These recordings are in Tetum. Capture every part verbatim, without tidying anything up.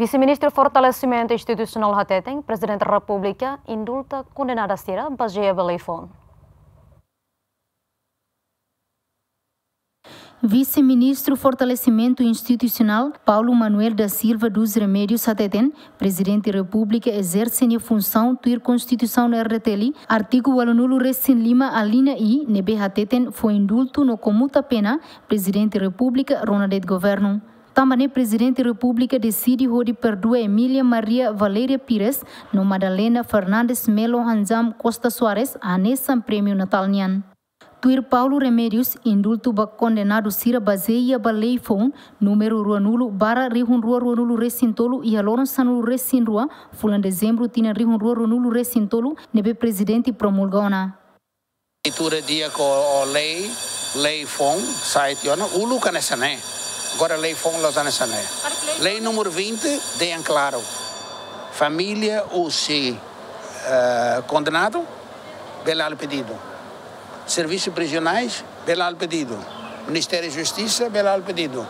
Vise-Ministru Fortalesimentu Institusionál hateten, Prezidente Repúblika indulta kondenadu sira bazeia ba lei foun. Vise-Ministru Fortalesimentu Institusionál, Paulo Manuel da Silva dos Remédios hateten, Prezidente Repúblika ezerse nia funsaun tuir Konstituisaun R D T L, artigu ualunulu resin lima alínea I, ne'ebé hateten fó indultu no komuta pena Prezidente Repúblika rona de'it governu. Tanba ne'e Prezidente Repúblika deside hodi perdua Emília Maria Valéria Pires no Madalena Fernandes Melo Hanjam Costa Soares hanesan prémiu Natál nian. Tuir Paulo Remédios, indultu ba kondenadu sira bazeia ba lei foun númeru ruanulu barra rihun rua ruanulu resin tolu iha loron sanulu resin rua, fulan Dezembru tinan rihun rua ruanulu resin tolu, ne'ebé Prezidente promulga ona. Leitura di'ak ho lei, lei foun, sai tiha ona, uluk hanesan ne'e. Agora lei foun la'ós hanesan ne'e. Lei númeru vinte, dehan klaru. Família husi, eh, kondenadu, bele halo pedidu. Servisu prizionais, bele halo pedidu. Ministériu Justisa, bele halo pedidu.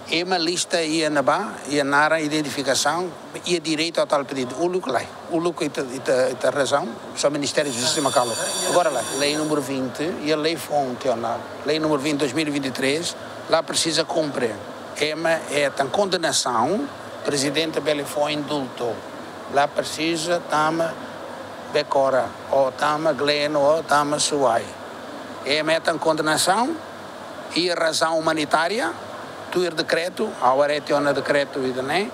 Ema lista iha ne'ebá, iha naran, identifikasaun, iha direitu atu halo pedidu. Uluk lae, uluk ita, ita, ita razaun, só Ministériu Justisa mak halo. Agora lae, lei númeru vinte, iha lei foun tiha ona. Lei númeru vinte, dois mil e vinte e três, la presiza kumpre. Ema hetan kondenasaun, Prezidente bele fó indultu. La presiza tama Becora, ou tama Gleno, ou tama Suai. Ema hetan kondenasaun, iha razaun umanitária, tuir dekretu, agora tiha ona dekretu ida-ne'e,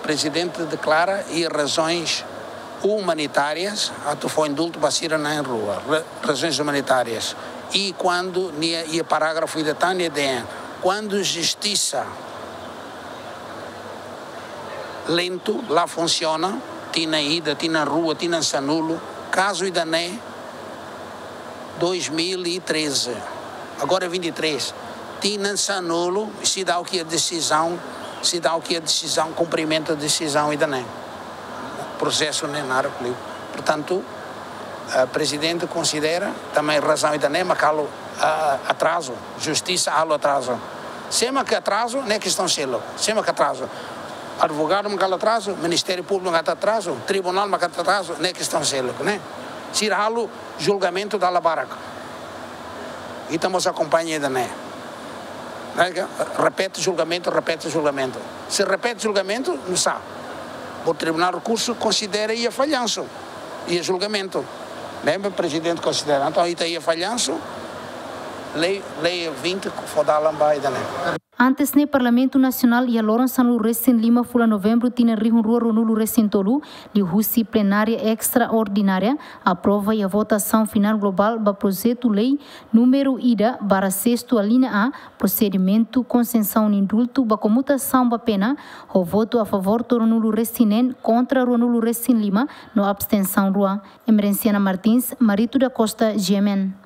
Prezidente deklara iha razoens umanitárias, atu fó indultu ba sira na'in-rua, ra-, razoens umanitárias. I kuandu nia, iha parágrafu ida tan nia dehan, kuandu justisa lentu, la funsiona, tinan ida, tinan rua, tinan sanulu, kazu ida-ne'e, dois mil e treze, agora vinte e três, tinan sanulu, seidauk iha desizaun, seidauk iha desizaun, kumprimentu desizaun ida-ne'e. Prosesu ne'e naruk liu. Portantu, eh, Prezidente konsidera, tanba razaun ida-ne'e mak halo, ah, atrazu, justisa halo atrazu. Sé mak atrazu, ne'e kestaun seluk. Sé mak atrazu. Advogadu mak halo atrazu, Ministériu Públiku mak halo atrazu, tribunál mak halo atrazu, ne'e kestaun seluk, ne'e. Sira halo julgamentu dala barak. Ita mós akompaña ida-ne'e. Ne'e ke, repete julgamentu, repete julgamentu. Se repete julgamentu, nusá? Bo Tribunál Rekursu konsidera iha fallansu iha julgamentu. Ne'ebé Prezidente konsidera. Entaun, ita iha fallansu, lei, lei vinte fó dalan ba ida-ne'e. Antes ne'e Parlamentu Nasionál iha loron sanulu resin lima fulan Novembru tinan rihun rua ruanulu resin tolu, liuhusi plenária estraordinária, aprova iha votasaun finál globál ba projetu lei númeru ida barra sestu alínea A, prosedimentu konsesaun indultu ba komutasaun ba pena, ho votu a favór tolunulu resin neen, kontra ruanulu resin lima, no abstensaun rua. Emerenciana Martins, Marito da Costa, G M N.